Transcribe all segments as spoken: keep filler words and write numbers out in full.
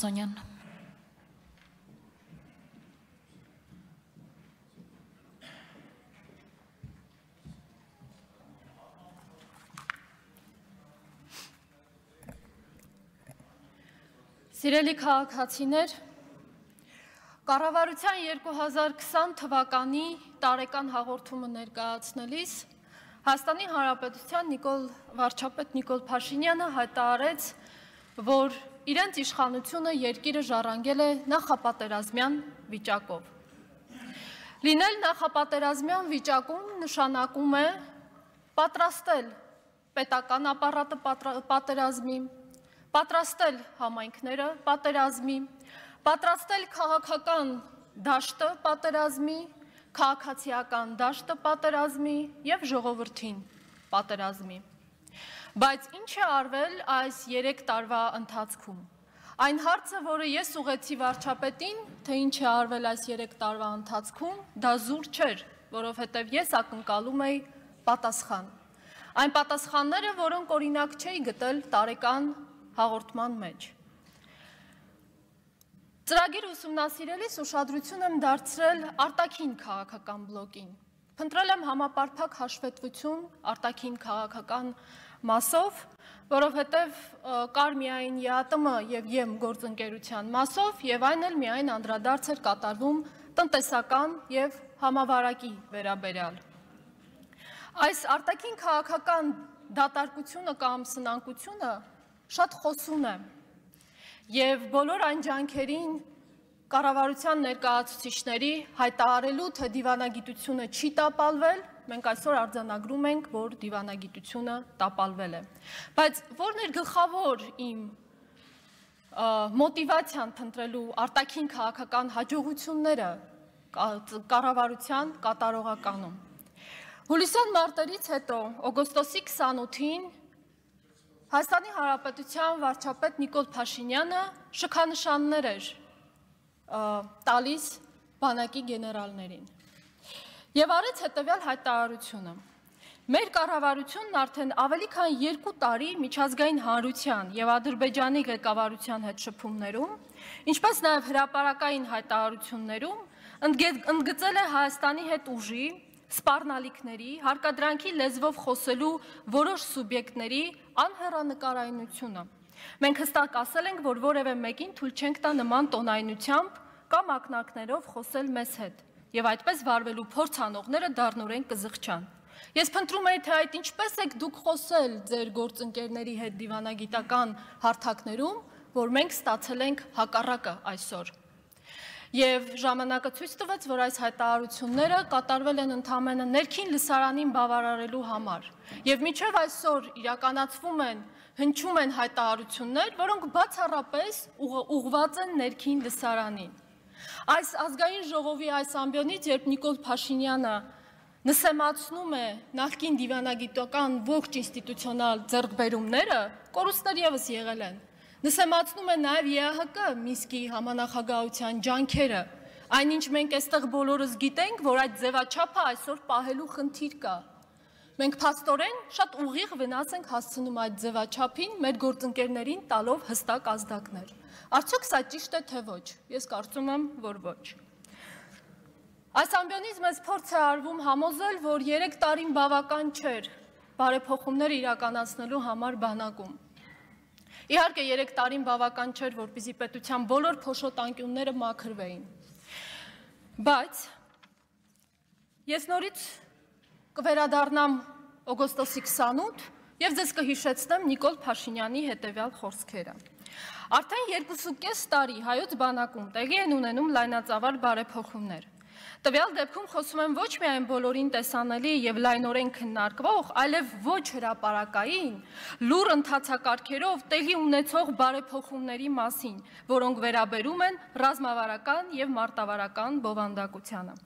Սոնյան։ Սիրելի քաղաքացիներ, կառավարության երկու հազար քսան թվականի տարեկան հաղորդումը ներկայացնելիս Հայաստանի Հանրապետության Նիկոլ վարչապետ Նիկոլ Փաշինյանը հայտարարեց, որ իրենց իշխանությունը երկիրը ժառանգել է նախապատերազմյան վիճակով։ Լինել նախապատերազմյան վիճակում նշանակում է պատրաստել պետական ապարատը պատերազմի, պատրաստել համայնքները պատերազմի, պատրաստել քաղաքական դաշտը պատերազմի, քաղաքացիական դաշտը պատերազմի և ժողովրդին պատերազմի։ Բայց ինչ է արվել այս երեք տարվա ընթացքում։ Այն հարցը, որը ես ուղղեցի վարչապետին, թե ինչ է արվել այս երեք տարվա ընթացքում, դա զուր չէր, որովհետև ես ակնկալում էի պատասխան։ Այն պատասխանները, որոնք օրինակ չէի գտել տարեկան հաղորդման մեջ։ Ծրագիր ուսումնասիրելիս ուշադրություն եմ դարձրել արտաքին քաղաքական բլոկին։ Փնտրել եմ համապարփակ հաշվետվություն արտաքին քաղաքական մասով, որովհետև կար միայն ԵԱՏՄ և ԵՄ գործընկերության մասով, և այն էլ միայն անդրադարձ էր կատարվում տնտեսական և համավարակի վերաբերյալ։ Այս արտաքին քաղաքական դատարկությունը կամ սնանկությունը շատ խոսուն է, և բոլոր այն ջանքերին կառավարության ներկայացուցիչների հայտարարելու, թե դիվանագիտությունը չի տապալվել, մենք այսօր արձանագրում ենք, որ դիվանագիտությունը տապալվել է։ Բայց որն էր գլխավոր իմ մոտիվացիան փնտրելու արտաքին քաղաքական հաջողությունները կառավարության կատարողականում։ Հուլիսյան մարտերից հետո օգոստոսի քսանութին Հայաստանի Հանրապետության վարչապետ Նիկոլ Փաշինյանը շքանշաններ էր տալիս բանակի գեներալներին և արեց հետևյալ հայտարարությունը. Մեր կառավարությունն արդեն ավելի քան երկու տարի միջազգային հանրության և Ադրբեջանի ղեկավարության հետ շփումներում, ինչպես նաև հրապարակային հայտարարություններում ընդգծել է Հայաստանի հետ ուժի, սպառնալիքների, հարկադրանքի լեզվով խոսելու որոշ սուբյեկտների անհեռանկարայնությունը։ Մենք հստակ ասել ենք, որ որևէ մեկին թույլ չենք տա նման տոնայնությամբ կամ ակնարկներով խոսել մեզ հետ, և այդպես վարվելու փորձ անողները դառնորեն կզղջան։ Ես փնտրում էի, թե այդ ինչպես եք դուք խոսել ձեր գործընկերների հետ դիվանագիտական հարթակներում, որ մենք ստացել ենք հակառակը այսօր։ Եվ ժամանակը ցույց տվեց, որ այս հայտարարությունները կատարվել են ընդամենը ներքին լսարանին բավարարելու համար։ Եվ մինչև այսօր իրականացվում են, հնչում են հայտարարություններ, որոնք բացառապես ուղղված են ներքին լսարանին։ Այս ազգային ժողովի այս ամբիոնից, երբ Նիկոլ Փաշինյանը նսեմացնում է նախկին դիվանագիտական ողջ ինստիտուցիոնալ ձեռքբերումները, կորուստներ ևս եղել են։ Նսեմացնում է նաև ԵԱՀԿ Մինսկի համանախագահության ջանքերը, այնինչ մենք այստեղ բոլորս գիտենք, որ այդ ձևաչափը այսօր պահելու խնդիր կա։ Մենք փաստորեն շատ ուղիղ վնաս ենք հասցնում այդ ձևաչափին, մեր գործընկերներին տալով հստակ ազդակներ։ Արդյոք սա ճիշտ է, թե ոչ։ Ես կարծում եմ, որ ոչ։ Այս ամբիոնից մեզ փորձ է արվում համոզել, որ երեք տարին բավական չէր բարեփոխումներ իրականացնելու համար բանակում։ Իհարկե երեք տարին բավական չէր, որպեսզի պետության բոլոր փոշոտ անկյունները մաքրվեին։ Բայց ես նորից կվերադառնամ օգոստոսի քսանութ և ձեզ կհիշեցնեմ Նիկոլ Փաշինյանի հետևյալ խոսքերը։ Արդեն երկուսուկես տարի հայոց բանակում տեղի են ունենում լայնածավալ բարեփոխումներ։ Տվյալ դեպքում խոսում եմ ոչ միայն բոլորին տեսանելի և լայնորեն քննարկվող, այլև ոչ հրապարակային, լուռ ընթացակարգերով տեղի ունեցող բարեփոխումների մասին, որոնք վերաբերում են ռազմավարական և մարտավարական բովանդակությանը։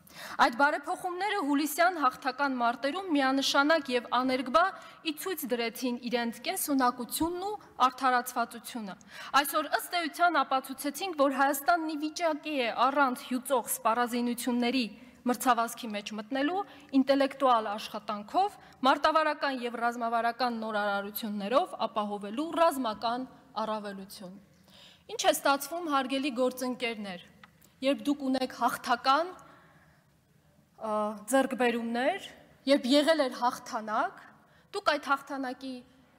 Այդ բարեփոխումները հուլիսյան հաղթական մարտերում միանշանակ և աներկբա ի ցույց դրեցին իրենց կենսունակությունն ու արդարացվածությունը։ Այսօր ըստ էության ապացուցեցինք, որ Հայաստանն ի վիճակի է առանց հյուծող սպառազինությունների մրցավազքի մեջ մտնելու ինտելեկտուալ աշխատանքով, մարտավարական և ռազմավարական նորարարություններով ապահովելու ռազմական առավելություն։ Ինչ է ստացվում, հարգելի գործընկերներ, երբ դուք ունեք հաղթական ձեռքբերումներ, երբ եղել էր հաղթանակ, դուք այդ հաղթանակի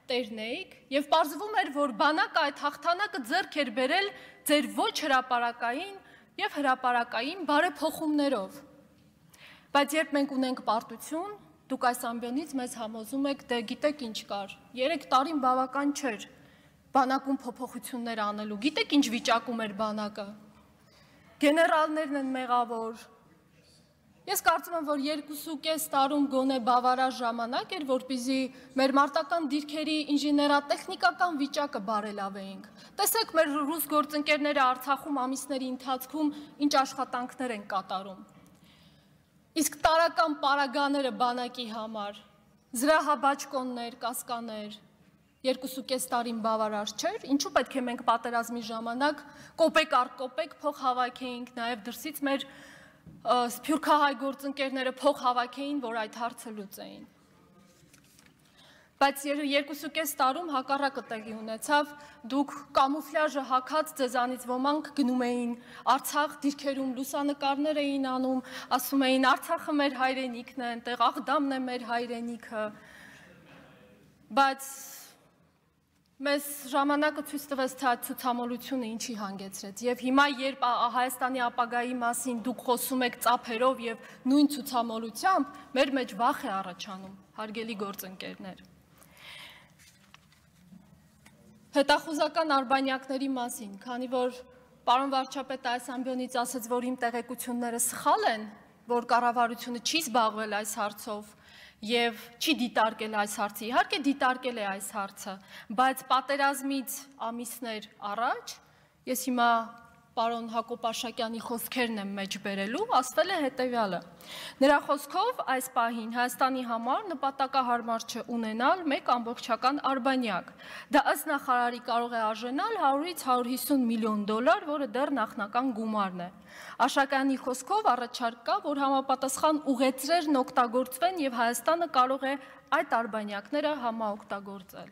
տերն էիք և պարզվում էր, որ բանակը այդ հաղթանակը ձեռք էր բերել ձեր ոչ հրապարակային և հրապարակային բարեփոխումներով։ Բայց երբ մենք ունենք պարտություն, դուք այս ամբիոնից մեզ համոզում եք, դե գիտեք ինչ կար, երեք տարին բավական չէր բանակում փոփոխություններ անելու, գիտեք ինչ վիճակում էր բանակը, գեներալներն են մեղավոր։ Ես կարծում եմ, որ երկուսու կես տարում գոնե բավարար ժամանակ էր, որպեսզի մեր մարտական դիրքերի ինժեներատեխնիկական վիճակը բարելավեինք։ Տեսեք մեր ռուս գործընկերները Արցախում ամիսների ընթացքում ինչ աշխատանքներ են կատարում։ Իսկ տարական պարագաները բանակի համար, զրահաբաճկոններ, կասկաներ, երկուսու կես տարին բավարար չէր, ինչու պետք է մենք պատերազմի ժամանակ կոպեկ առ կոպեկ փող հավաքեինք, նաև դրսից մեր սփյուռքահայ գործընկերները փող հավաքեին, որ այդ հարցը լուծեին։ Բայց երկուսու կես տարում հակառակը տեղի ունեցավ, դուք կամուֆլյաժը հագած ձեզանից ոմանք գնում էին Արցախ, դիրքերում լուսանկարներ էին անում, ասում էին Արցախը մեր հայրենիքն է, այնտեղ Աղդամն է մեր հայրենիքը, բայց մեզ ժամանակը ցույց տվեց, թե այդ ցուցամոլությունը ինչի հանգեցրեց, և հիմա երբ Հայաստանի ապագայի մասին դուք խոսում եք ծափերով և նույն ցուցամոլությամբ, մեր մեջ վախ է առաջանում, հարգելի գործընկերներ։ Հետախուզական արբանյակների մասին, քանի որ պարոն վարչապետը այս ամբիոնից ասեց, որ իմ տեղեկությունները սխալ են, որ կառավարությունը չի զբաղվել այս հարցով և չի դիտարկել այս հարցը, իհարկե դիտարկել է այս հարցը, բայց պատերազմից ամիսներ առաջ, ես հիմա պարոն Հակոբ Արշակյանի խոսքերն եմ մեջ բերելու, ասվել է հետևյալը. նրա խոսքով այս պահին Հայաստանի համար նպատակահարմար չէ ունենալ մեկ ամբողջական արբանյակ, դա ըստ նախարարի կարող է արժանալ հարյուրից հարյուր հիսուն միլիոն դոլար, որը դեռ նախնական գումարն է։ Արշակյանի խոսքով առաջարկ կա, որ համապատասխան ուղեծրերն օգտագործվեն և Հայաստանը կարող է այդ արբանյակները համաօգտագործել։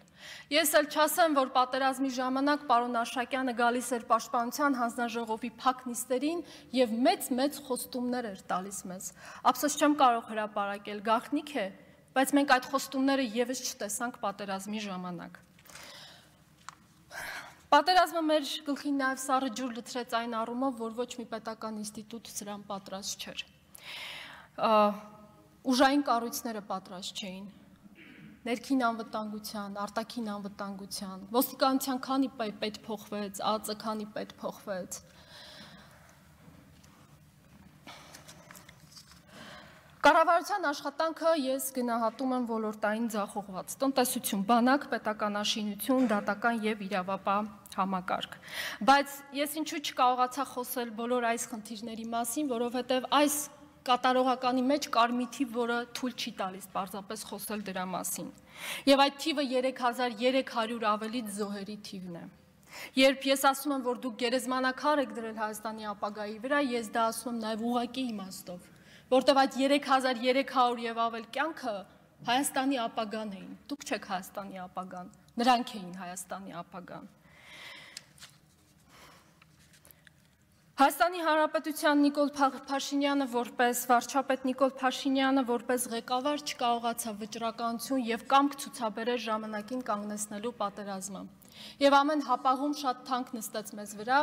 Ես էլ չասեմ, որ պատերազմի ժամանակ պարոն Արշակյանը գալիս էր Պաշտպանության հանձնաժողովի փակ նիստերին և մեծ-մեծ խոստումներ էր տալիս մեզ։ Ափսոս չեմ կարող հրապարակել, գաղտնիք է, բայց մենք այդ խոստումները ևս չտեսանք պատերազմի ժամանակ։ Պատերազմը մեր գլխին նաև սառը ջուր լցրեց այն առումով, որ ոչ մի պետական ինստիտուտ սրան պատրաստ չէր։ Ուժային կառույցները պատրաստ չէին։ Ներքին անվտանգության, արտաքին անվտանգության, ոստիկանության քանի պետ փոխվեց, ԱԱԾ քանի պետ փոխվեց։ Կառավարության աշխատանքը ես գնահատում եմ ոլորտային ձախողված, տնտեսություն, բանակ, պետականաշինություն, դատական և իրավապահ համակարգ։ Բայց ես ինչու չկարողացա խոսել բոլոր այս խնդիրների մասին, որովհետև այս կատարողականի մեջ կար մի թիվ, որը թույլ չի տալիս պարզապես խոսել դրա մասին։ Եվ այդ թիվը երեք հազար երեք հարյուր ավելի զոհերի թիվն է։ Երբ ես ասում եմ, որ դուք գերեզմանաքար եք դրել Հայաստանի ապագայի վրա, ես դա ասում եմ նաև ուղղակի իմաստով, որտև այդ երեք հազար երեք հարյուր և ավել կյանքը Հայաստանի ապագան էին, դուք չեք Հայաստանի ապագան, նրանք էին Հայաստանի ապագան։ Հայաստանի Հանրապետության Նիկոլ Փաշինյանը որպես վարչապետ Նիկոլ Փաշինյանը որպես ղեկավար չկարողացավ վճռականություն և կամք ցուցաբերել ժամանակին կանգնեցնելու պատերազմը։ Եվ ամեն հապաղում շատ թանկ նստեց մեզ վրա,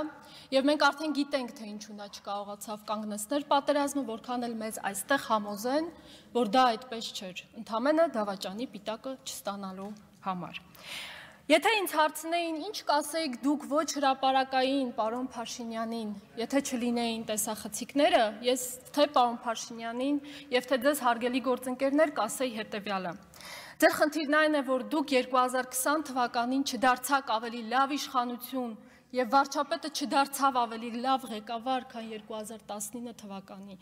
և մենք արդեն գիտենք, թե ինչու նա չկարողացավ կանգնեցնել պատերազմը, որքան էլ մեզ այստեղ համոզեն, որ դա այդպես չէր, ընդամենը դավաճանի պիտակը չստանալու համար։ Եթե ինձ հարցնեին, ինչ կասեիք դուք ոչ հրապարակային պարոն Փաշինյանին, եթե չլինեին տեսախցիկները, ես թե պարոն Փաշինյանին և թե ձեզ հարգելի գործընկերներ կասեի հետևյալը։ Ձեր խնդիրն այն է, որ դուք երկու հազար քսան թվականին չդարձաք ավելի լավ իշխանություն և վարչապետը չդարձավ ավելի լավ ղեկավար, քան երկու հազար տասնինը թվականին։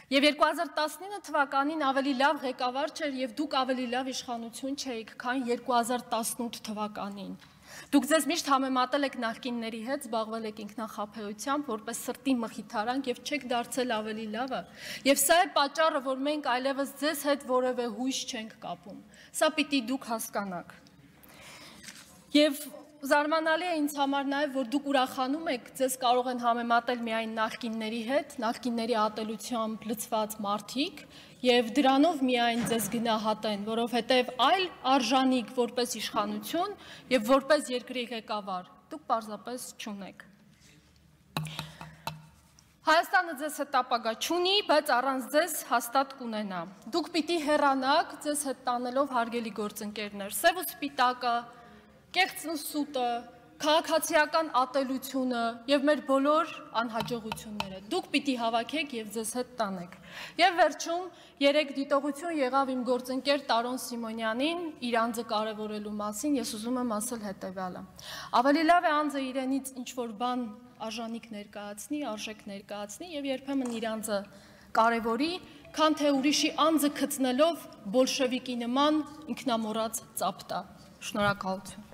Եվ երկու հազար տասնինը թվականին ավելի լավ ղեկավար չէր և դուք ավելի լավ իշխանություն չէիք, քան երկու հազար տասնութ թվականին։ Դուք ձեզ միշտ համեմատել եք նախկինների հետ, զբաղվել եք ինքնախաբեությամբ, որպես սրտի մխիթարանք և չեք դարձել ավելի լավը։ Եվ սա է պատճառը, որ մենք այլևս ձեզ հետ որևէ հույս չենք կապում։ Սա պիտի դուք հասկանաք։ Եվ զարմանալի է ինձ համար նաև, որ դուք ուրախանում եք, ձեզ կարող են համեմատել միայն նախկինների հետ, նախկինների ատելությամբ լցված մարդիկ, եւ դրանով միայն ձեզ գնահատեն, որովհետեւ այլ արժանիք որպես իշխանություն եւ որպես երկրի ղեկավար դուք պարզապես չունեք։ Հայաստանը ձեզ հետ ապագա չունի, բայց առանց ձեզ հաստատ կունենա։ Դուք պիտի հեռանաք ձեզ հետ տանելով հարգելի գործընկերներ, սև ու սպիտակը, կեղծն ու սուտը, քաղաքացիական ատելությունը եւ մեր բոլոր անհաջողությունները դուք պիտի հավաքեք եւ ձեզ հետ տանեք։ Եվ վերջում երեք դիտողություն եղավ իմ գործընկեր Տարոն Սիմոնյանին իր անձը կարևորելու մասին, ես ուզում եմ ասել հետեւյալը։ Ավելի լավ է անձը իրենից ինչ որ բան արժանիք ներկայացնի, արժեք ներկայացնի եւ երբեմն իր անձը կարևորի, քան թե ուրիշի անձը գտնելով բոլշևիկի նման ինքնամոռաց ծափ տա։ Շնորհակալություն։